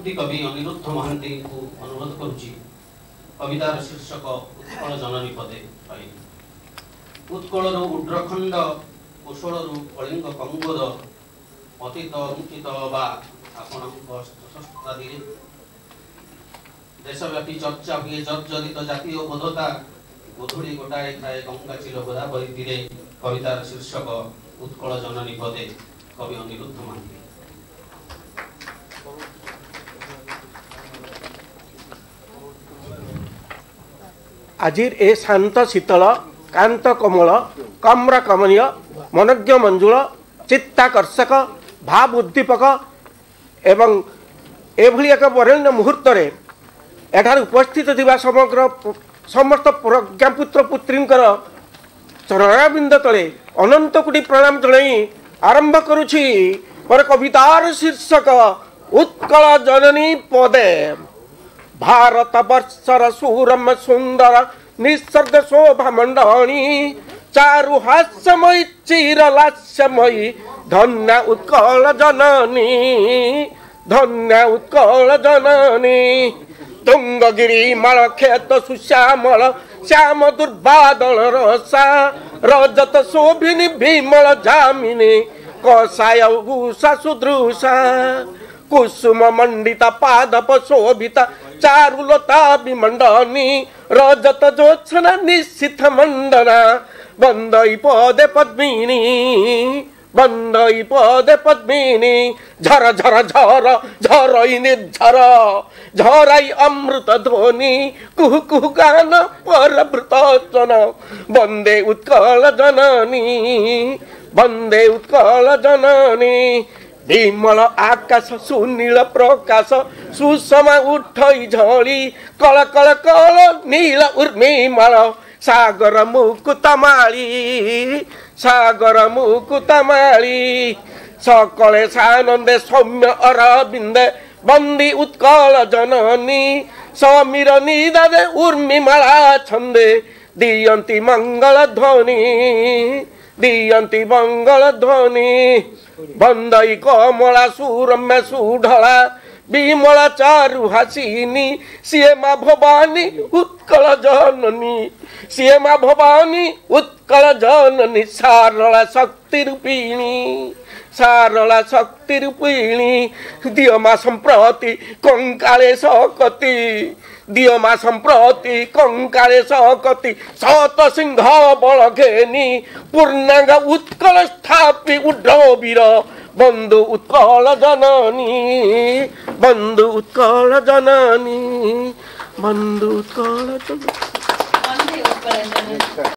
କୃତି କବି ଅନିରୁଦ୍ଧ ମହାନ୍ତିଙ୍କୁ ଅନୁରୋଧ କରୁଛି କବିତାର ଶୀର୍ଷକ ଉତ୍କଳ ଜନନୀ ପଦେ ପାଇ। ଉତ୍କଳରୁ ଉଡ୍ରଖଣ୍ଡ, କୋଶଳରୁ କଳିଙ୍ଗ କଙ୍ଗୋଦ, ପତିତ ଅଙ୍କିତ ବା ଆପଣଙ୍କ ଅସ୍ତ୍ରଶସ୍ତ୍ରାଦିରେ ଦେଶବ୍ୟାପୀ ଚର୍ଚ୍ଚା ହୁଏ ଜର୍ଜରିତ ଜାତୀୟ ବୋଧତା, ଗୋଧୂଳି ଗୋଟାଏ ଥାଏ ଗଙ୍ଗା ଚିଲ ଗୋଦାବରୀ ତୀରେ। କବିତାର ଶୀର୍ଷକ ଉତ୍କଳ ଜନନୀ ପଦେ, କବି ଅନିରୁଦ୍ଧ ମହାନ୍ତି। আজির এ শান্ত শীতল কান্ত কমল কম্র কমনীয় মনজ্ঞ মঞ্জুল চিত্তাকর্ষক ভাব উদ্দীপক এবং এভাবে এক বরেণ্য মুহূর্তে এঠার উপস্থিত থাকা সমগ্র সমস্ত প্রজ্ঞাপুত্র পুত্রীঙ্কর চরণাবিন্দ তলে অনন্ত কোটি প্রণাম জনাই আরম্ভ করুছি মোর কবিতার শীর্ষক উৎকল জননী পদে। भारत वर्षर सुरम सुंदर निसर्ग शोभा मंडणी, चारु हास्यमयी चिर लास्यमयी धन्य उत्कल जननी, धन्य उत्कल जननी। तुंगगिरी मल खेत सुश्यामल श्याम दुर्बादल रसा, रजत शोभिनी भीमल जामिनी कसाय उषा सुदृशा। कुसुम मंडिता पादप शोभिता चारुलता विमंडनी, रजत ज्योत्सना निश्चित मंडना बंदई पदे पद्मिनी, बंदई पदे पद्मिनी। झर झर झर झरई निर्झर झराई अमृत ध्वनि, कुह कुह गान परभृत जन वंदे उत्कल जननी, वंदे उत्कल जननी। विमल आकाश सुनील प्रकाश सुषमा उठई झड़ी, कल कल कल नील उर्मिमाल सागर मुकुतमाली, सागर मुकुतमाली। सकले सानंदे सौम्य अरविंदे बंदी उत्कल जननी, समीर निदादे उर्मिमाला छंदे दियंती मंगल ध्वनि, दियंती मंगल ध्वनि। बंदई कमला सुरम्य सुढला विमला चारु हासिनी, सिए मा भवानी उत्कल जननी, सिए मा भवानी उत्कल जननी। सारला शक्ति रूपिणी, सारला शक्ति रूपिणी। दिय मा सम्प्रति कंकाले सकति, दिय मा सम्प्रति कंकाले सकति। सत सिंह बल घेनी पूर्णांग उत्कल स्थापी उड्र वीर बंधु उत्कल जननी, बंधु उत्कल जननी, बंधु उत्कल जननी।